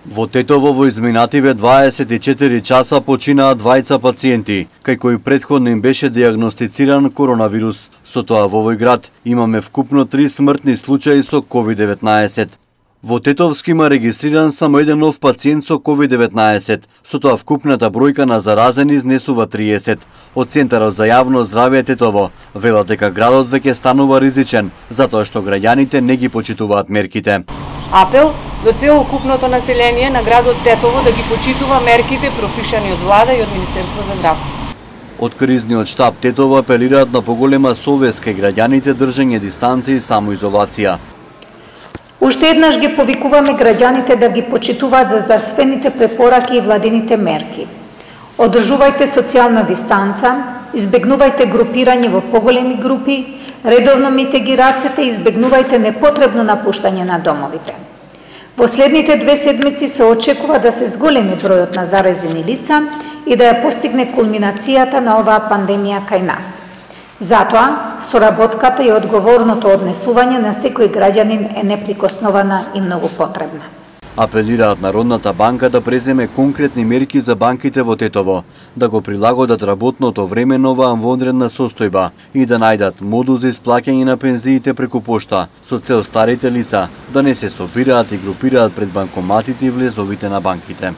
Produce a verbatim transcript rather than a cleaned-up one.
Во Тетово во изминативе дваесет и четири часа починаа двајца пациенти, кај кои претходно им беше дијагностициран коронавирус. Со тоа во овој град имаме вкупно три смртни случаи со ковид деветнаесет. Во Тетовски има регистриран само еден нов пациент со ковид деветнаесет, со тоа вкупната бројка на заразени изнесува триесет. Од Центарот за јавно здравје Тетово велат дека градот веќе станува ризичен, затоа што граѓаните не ги почитуваат мерките. Апел до целокупното население на градот Тетово да ги почитува мерките пропишани од влада и од Министерство за здравство. Од кризниот штаб Тетово апелираат на поголема совест кај граѓаните, држење дистанција и самоизолација. Уште еднаш ги повикуваме граѓаните да ги почитуваат за здравствените препораки и владините мерки. Одржувајте социјална дистанца, избегнувајте групирање во поголеми групи, редовно мите ги рацете и избегнувајте непотребно напуштање на домовите. Во следните две седмици се очекува да се зголеми бројот на заразени лица и да ја постигне кулминацијата на оваа пандемија кај нас. Затоа, соработката и одговорното однесување на секој граѓанин е неприкоснована и многу потребна. Апелираат Народната банка да преземе конкретни мерки за банките во Тетово, да го прилагодат работното време на оваа вонредна состојба и да најдат модул за исплаќање на пензиите преку пошта, со цел старите лица да не се собираат и групираат пред банкоматите и влезовите на банките.